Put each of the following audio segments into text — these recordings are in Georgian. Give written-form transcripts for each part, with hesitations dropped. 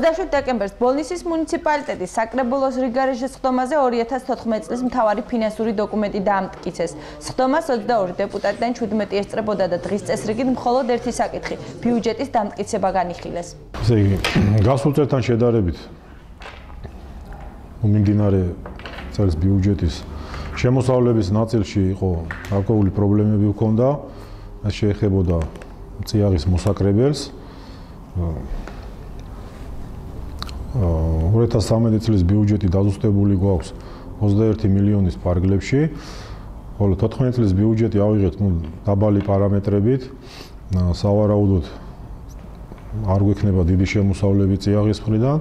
27 დეკემბერს ბოლნისის მუნიციპალიტეტის საკრებულოს რიგარეშის სხდომაზე 2014 წლის მთავარი ფინანსური დოკუმენტი დაამტკიცეს. სხდომას 22 დეპუტატიდან 17 ესწრებოდა და დღის წესრიგით მხოლოდ ერთი საკითხი ბიუჯეტის დამტკიცება განიხილეს. ესე იგი, გასულ წელთან შედარებით მიმდინარე წელს ბიუჯეტის შემოსავლების ნაწილში იყო გარკვეული პრობლემები ჰქონდა, ეს შეეხებოდა წიაღის მოსაკრებელს. 2013 წლის ბიუჯეტი დაზუსტებული გვაქვს 21 მილიონის ფარგლებში, ხოლო 14 წლის ბიუჯეტი ავიღეთ დაბალი პარამეტრებით, სავარაუდოდ არ გვექნება დიდი შემოსავლები წიაღის მხრიდან.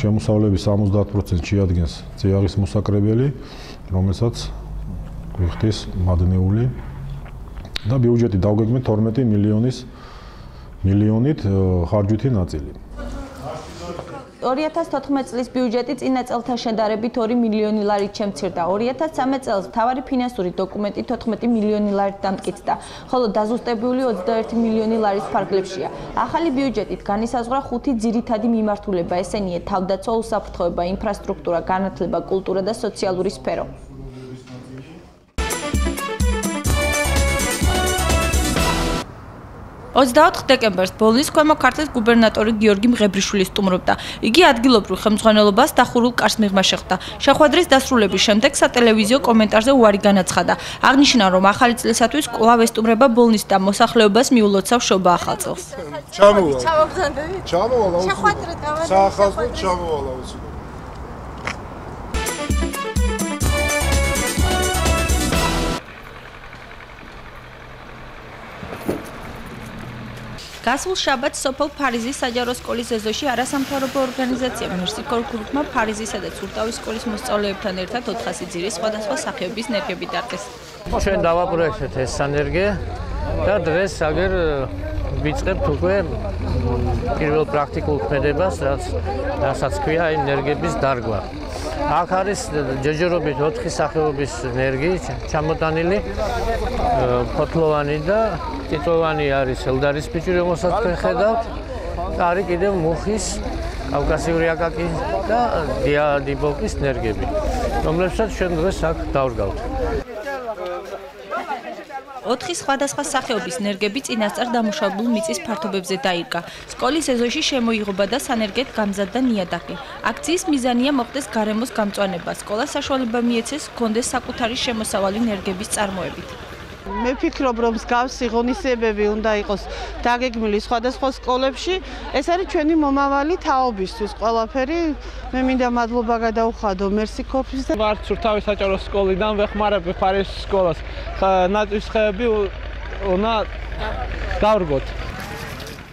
შემოსავლების 70% შეადგენს წიაღის მოსაკრებელი, რომელსაც გვიხდის მადნეული და ბიუჯეტი დავგეგმეთ 12 მილიონით ხარჯვითი ნაწილი. 2014 წლის ბიუჯეტი წინა წელთან შედარებით 2 მილიონი ლარით შემცირდა. 2013 წელს მთავარი ფინანსური დოკუმენტი 14 მილიონი ლარით დამტკიცდა, ხოლო დაზუსტებული 21 მილიონი ლარის ფარგლებშია. ახალი ბიუჯეტით განისაზღვრა 5 ძირითადი მიმართულება, ესენია თავდაცვა, უსაფრთხოება, ინფრასტრუქტურა, განათლება, კულტურა და სოციალური სფერო. 24 დეკემბერს ბოლნისის ქვემო ქართლის გუბერნატორი გიორგი მღებრიშვილი სტუმრობდა. იგი ადგილობრივ ხელმძღვანელობას დახურულ კარს მიღმა შეხვდა. შეხვედრის დასრულების შემდეგ სატელევიზიო კომენტარზე უარი განაცხადა. აღნიშნა, რომ ახალი წლისათვის კვლავ ესტუმრება ბოლნისს და მოსახლეობას მიულოცავს შობა ახალ წელს. ჩამოვალ საახალწლოდ ჩამოვალ აუცილებლად. გასულ შაბათს სოფელ ფარიზის საჯარო სკოლის ეზოში არასამთავრობო ორგანიზაცია მერსიკორ გრუპმა ფარიზისა და ცურტავის სკოლის მოსწავლეებთან ერთად 400 ძირის სხვადასხვა სახეობის ნერგები დარგეს. ჩვენ დავაპროექტეთ ეს სანერგე და დღეს აგერ ვიწყებთ უკვე პირველ პრაქტიკულ ქმედებას, რასაც ქვია ენერგების დარგვა. აქ არის ჯეჯერობით 4 სახეობის ნერგი ჩამოტანილი, ფოთლოვანი და ტიტოვანი არის ელდარის ფიჭვი, რომელსაც თქვენ ხედავთ. არის კიდევ მუხის, კავკასიური აკაკი და დიადიბოკის ნერგები, რომლებსაც ჩვენ დღეს აქ დავრგავთ. 4 სხვადასხვა სახეობის ნერგები წინასწარ დამუშავებულ მიწის ფართობებზე დაირგა. სკოლის ეზოში შემოიღობა და სანერგედ გამზადდა ნიადაგი. აქციის მიზანია მოხდეს გარემოს გამწვანება. სკოლას საშუალება მიეცეს ჰქონდეს საკუთარი შემოსავალი ნერგების წარმოებით. მე ვფიქრობ, რომ მსგავსი ღონისძიებები უნდა იყოს დაგეგმილი სხვადასხვა სკოლებში. ეს არის ჩვენი მომავალი თაობისთვის ყველაფერი. მე მინდა მადლობა გადაუხადო მერსიკორპის და ვარ ცურთავის საჯარო სკოლიდან, ვეხმარებ ფარიზის სკოლას. ნაწვის ხეები უნდა დავრგოთ.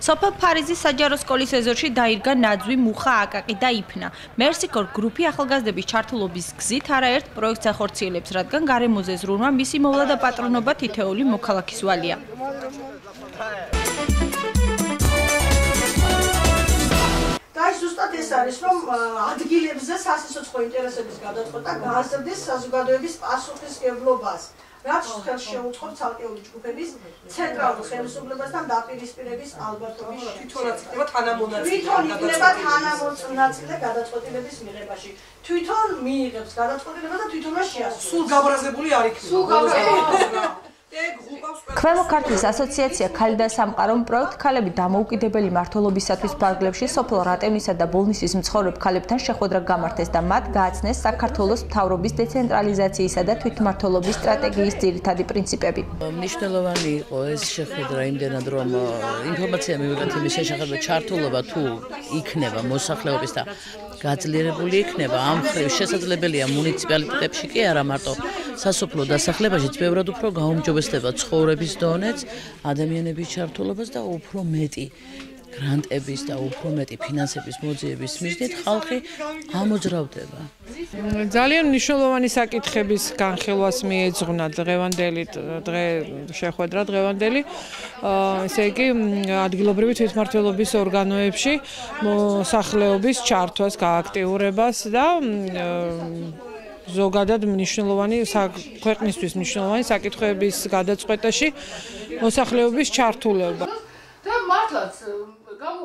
სოფელ ფარიზის საჯარო სკოლის ეზოში დაირგა ნაძვი, მუხა, აკაკი და იფნა. მერსიკორ გრუპი ახალგაზრდების ჩართულობის გზით არაერთ პროექტს ახორციელებს, რადგან გარემოზე ზრუნვა მისი მოვლა და პატრონობა თითოეული მოქალაქის ვალია. და ზუსტად ეს არის, რომ ადგილებზე სასიცოცხლო ინტერესების გადაწყვეტა გააზრდეს საზოგადოების პასუხისმგებლობას. რაც ხელს შეუწყობს ცალკეული ჯგუფების ცენტრალურ ხელისუფლებასთან დაპირისპირების ალბათობის თვითონაც იქნება თანამონაწილე. თვითონ იქნება თანამონაწილე გადაწყვეტილების მიღებაში. თვითონ მიიღებს გადაწყვეტილება და თვითონაც შეასრულებს. სულ გაბრაზებული არ იქნება. სულ გაბრაზებული. ქვემო ქართლის ასოციაცია ქალი და სამყარო პროექტ ქალები დამოუკიდებელი მმართველობისათვის ფარგლებში სოფელ რატევნისა და ბოლნისის მცხოვრებ ქალებთან შეხვედრა გამართეს და მათ გააცნეს საქართველოს მთავრობის დეცენტრალიზაციისა და თვითმმართველობის სტრატეგიის ძირითადი პრინციპები. მნიშვნელოვანი იყო ეს შეხვედრა იმდენად, რომ ინფორმაცია მივიღეთ იმის შესახებ, ჩართულობა თუ იქნება მოსახლეობის და გაძლიერებული იქნება, ამ მხრივ შესაძლებელია მუნიციპალიტეტებში კი არა მარტო სასოფლო დასახლებაშიც ბევრად უფრო გაუმჯობესდება ცხოვრების დონეც, ადამიანების ჩართულობას და უფრო მეტი გრანტების და უფრო მეტი ფინანსების მოძიების მიზნით ხალხი ამოძრავდება. ძალიან მნიშვნელოვანი საკითხების განხილვას მიეძღვნა დღევანდელი შეხვედრა დღევანდელი, ესე იგი ადგილობრივი თვითმმართველობის ორგანოებში მოსახლეობის ჩართვას, გააქტიურებას და ზოგადად მნიშვნელოვანი ქვეყნისთვის მნიშვნელოვანი საკითხების გადაწყვეტაში მოსახლეობის ჩართულობა.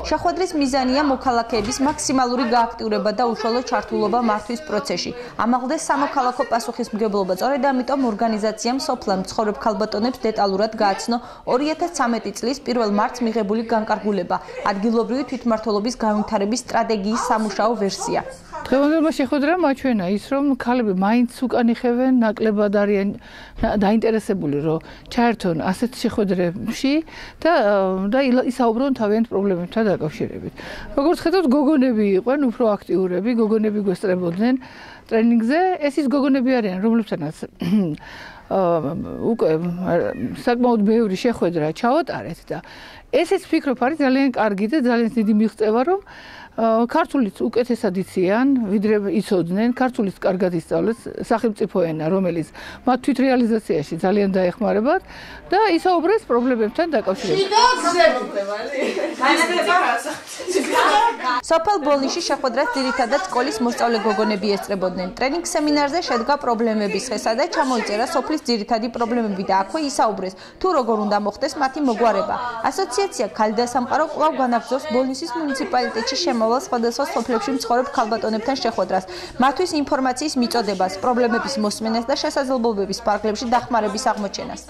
შეხვედრის მიზანია მოქალაქეების მაქსიმალური გააქტიურება და უშუალო ჩართულობა მართვის პროცესში. ამაღლდეს სამოქალაქო პასუხისმგებლობა. სწორედ ამიტომ ორგანიზაციამ სოფლამ მცხოვრებ ქალბატონებს დეტალურად გააცნო 2013 წლის 1 მარტს მიღებული განკარგულება, ადგილობრივი თვითმმართველობის განვითარების სტრატეგიის სამუშაო ვერსია. დღევანდელმა შეხვედრა მაჩვენა ის, რომ ქალები მაინც უკან იხევენ, ნაკლებად არიან დაინტერესებული, რომ ჩაერთონ ასეთ შეხვედრებში და ისაუბრონ თავიანთ პრობლემებთან დაკავშირებით. როგორც ხედავთ, გოგონები იყვნენ უფრო აქტიურები, გოგონები გვესწრებოდნენ ტრენინგზე. ეს ის გოგონები არიან, რომლებთანაც უკვე საკმაოდ ბევრი შეხვედრა ჩავატარეთ და ესეც ვფიქრობ არის ძალიან კარგი და ძალიან დიდი მიღწევა, რომ ქართულიც უკეთესად იციან, ვიდრე იცოდნენ, ქართულიც კარგად ისწავლეს სახელმწიფო ენა, რომელიც მათ თვითრეალიზაციაში ძალიან დაეხმარებათ და ისაუბრეს პრობლემებთან დაკავშირებით. სოფელ ბოლნიში შეხვედრას ძირითადად სკოლის მოსწავლე გოგონები ესწრებოდნენ. ტრენინგ სემინარზე შედგა პრობლემების ხესა და ჩამოიწერა სოფლის ძირითადი პრობლემები და აქვე ისაუბრეს, თუ როგორ უნდა მოხდეს მათი მოგვარება. ასოციაცია ქალთა სამყარო კვლავ განაგრძობს ბოლნისის მუნიციპალიტეტში შემოვალ სხვადასხვა სოფლებში მცხოვრებ ქალბატონებთან შეხვედრას, მათთვის ინფორმაციის მიწოდებას, პრობლემების მოსმენას და შესაძლებლობების პარკლებში დახმარების აღმოჩენას.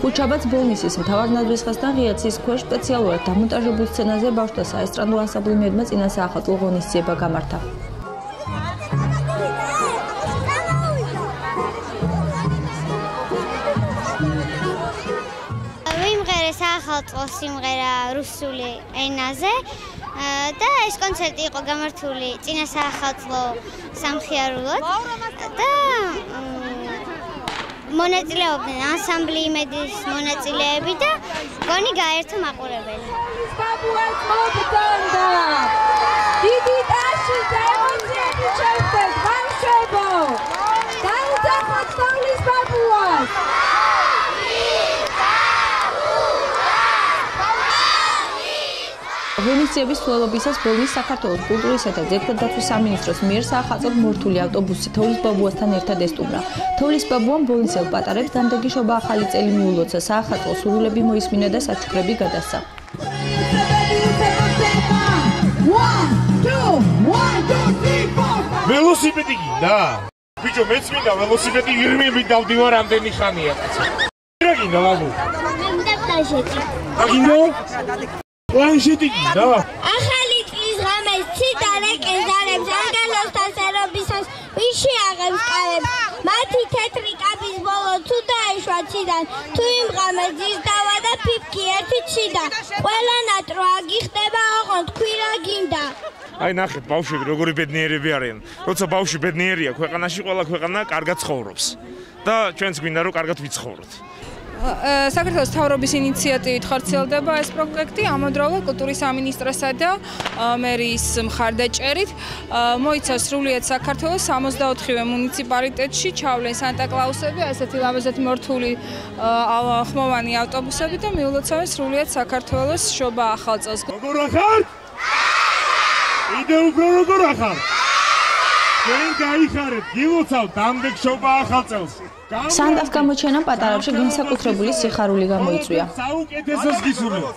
ხუჩაბაც ბოლნისის მთავარ ნადვისხასთან ღიაცის ქვეშ სპეციალურად დამონტაჟებულ სცენაზე ბავშვთა საესტრადო ანსამბლიმებმა წინა საახალწლო ღონისძიება გამართა. ვიმღერე საახალწლო სიმღერა რუსული ენაზე და ეს კონცერტი იყო გამართული წინა საახალწლო სამხიარულოდ და მონაწილეობდნენ ანსამბლიმების მონაწილეები და გონი გაერთო მაყურებელი. დიდი ტაში და ემოციები შევხვდეთ, ბავშვებო! დაუძახოთ თოვლის ბაბუას! ღონისძიების მსვლელობისას ბოლნის საქართველოს კულტურისა და ძეგლთადაცვის სამინისტროს მიერ საახალწლოდ მორთული ავტობუსი თოვლის ბაბუასთან ერთად ესტუმრა. თოვლის ბაბუამ ბოლნისელ პატარებს დანდაგიშობა ახალი წელი მიულოცა, საახალწლო სურვილები მოისმინა და საჩუქრები გადასცა. ველოსიპედი გინდა? ბიჭო, მეც მინდა ველოსიპედი ირმებით დავდივარ ამდენი ხანია. რა გინდა ბაბუ? მე მინდა პლანშეტი. გინდა? პლანშეტი გინდა? ახალი წლის ღამეს ციტარე კენძარებს ანგელოსთან სერობისას ვიში აღებს კარებს მათი თეთრი კაბის ბოლო თუ დაეშვა ციდან თუ იმ ღამეს ძის დავა და ფიფკი ერთი ციდა ყველა ნატრო აგიხდება ოღონდ თქვი რა გინდა აი ნახეთ ბავშვები როგორი ბედნიერები არიან როცა ბავშვი ბედნიერია ქვეყანაში ყველა ქვეყანა კარგად ცხოვრობს და ჩვენც გვინდა რომ კარგად ვიცხოვროთ საქართველოს მთავრობის ინიციატივით ხორციელდება ეს პროექტი ამავდროულად კულტურის სამინისტროსა და მერის მხარდაჭერით მოიცა სრულიად საქართველოს 64-ვე მუნიციპალიტეტში ჩავლენ სანტა-კლაუსები, ასეთი ლამაზად მორთული ხმოვანი ავტობუსები და მიულოცავენ სრულიად საქართველოს შობა ახალ წელს. როგორ ახარ? იდე უფრო როგორ ახარ? ჩვენ გაიხარეთ, გილოცავთ ამდენ შობა ახალ წელს. სანდას გამოჩენამ პატარებში განსაკუთრებული სიხარული გამოიწვია. საუკეთესოს გისურვებთ.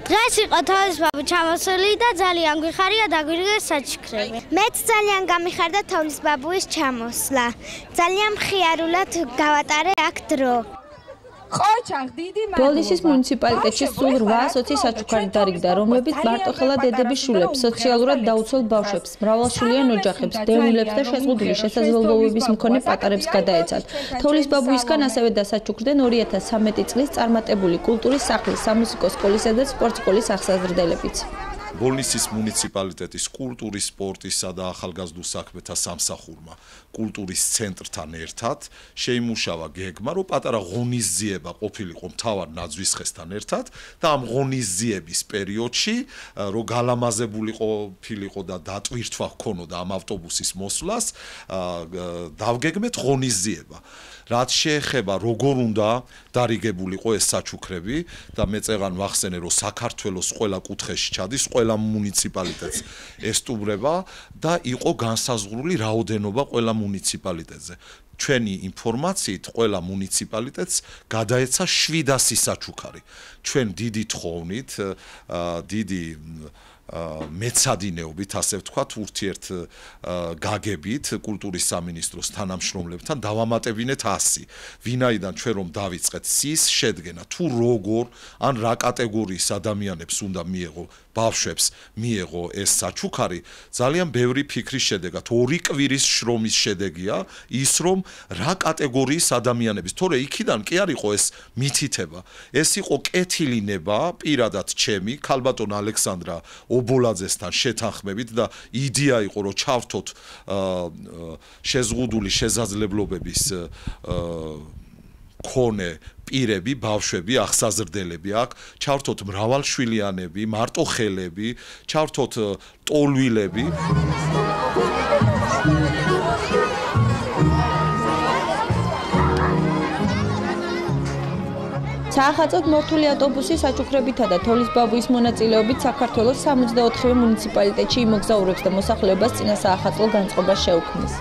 დღეს იყო თოვლის ბაბუ ჩამოსული და ძალიან გვიხარია დაგვირგეს საჩქრები. მეც ძალიან გამიხარდა თოვლის ბაბუის ჩამოსვლა. ძალიან მხიარულად გავატარე აქ დრო. ბოლნისის მუნიციპალიტეტში სულ 820 საჩუქარი დარიგდა, რომლებიც მარტოხელა დედების შულებს, სოციალურად დაუცველ ბავშვებს, მრავალშვილიან ოჯახებს, დევნილებს და შეზღუდული შესაძლებლობების მქონე პატარებს გადაეცათ. თოვლის ბაბუისგან ასევე დასაჩუქრდნენ 2013 წლის წარმატებული კულტურის სახლის, სამუსიკო სკოლისა და სპორტ სკოლის აღსაზრდელებიც. ბოლნისის მუნიციპალიტეტის კულტურის, სპორტისა და ახალგაზრდულ საქმეთა სამსახურმა კულტურის ცენტრთან ერთად შეიმუშავა გეგმა, რომ პატარა ღონისძიება ყოფილიყო მთავარ ნაძვისხესთან ერთად და ამ ღონისძიების პერიოდში, რომ გალამაზებული ყოფილიყო და დატვირთვა ჰქონოდა ამ ავტობუსის მოსვლას, დავგეგმეთ ღონისძიება. რაც შეეხება როგორ უნდა დარიგებულიყო ეს საჩუქრები და მე წეღან ვახსენე რომ საქართველოს ყველა კუთხეში ჩადის, ყველა მუნიციპალიტეტს ესტუმრება და იყო განსაზღვრული რაოდენობა ყველა მუნიციპალიტეტზე. ჩვენი ინფორმაციით ყველა მუნიციპალიტეტს გადაეცა 700 საჩუქარი. ჩვენ დიდი თხოვნით, დიდი მეცადინეობით, ასე ვთქვათ, ურთიერთ გაგებით კულტურის სამინისტროს თანამშრომლებთან დავამატებინეთ 100. ვინაიდან ჩვენ რომ დავიწყეთ სის შედგენა, თუ როგორ ან რა კატეგორიის ადამიანებს უნდა მიეღო, ბავშვებს მიეღო ეს საჩუქარი, ძალიან ბევრი ფიქრის შედეგად, 2 კვირის შრომის შედეგია ის, რომ რა კატეგორიის ადამიანების, თორე იქიდან კი არ იყო ეს მითითება. ეს იყო კეთილინება პირადად ჩემი, ქალბატონ ალექსანდრა ობოლაძესთან შეთანხმებით და იდეა იყო რომ ჩავთოთ შეზღუდული შესაძლებლობების ქონე პირები, ბავშვები, აღსაზრდელები აქ, ჩავთოთ მრავალშვილიანები, მარტოხელები, ჩავთოთ ტოლვილები. საახალწლოდ მორთული ავტობუსი საჩუქრებითა და თოვლის ბაბუის მონაწილეობით საქართველოს 64 მუნიციპალიტეტში იმოგზაურებს და მოსახლეობას წინა საახალწლო განწყობას შეუქმნის.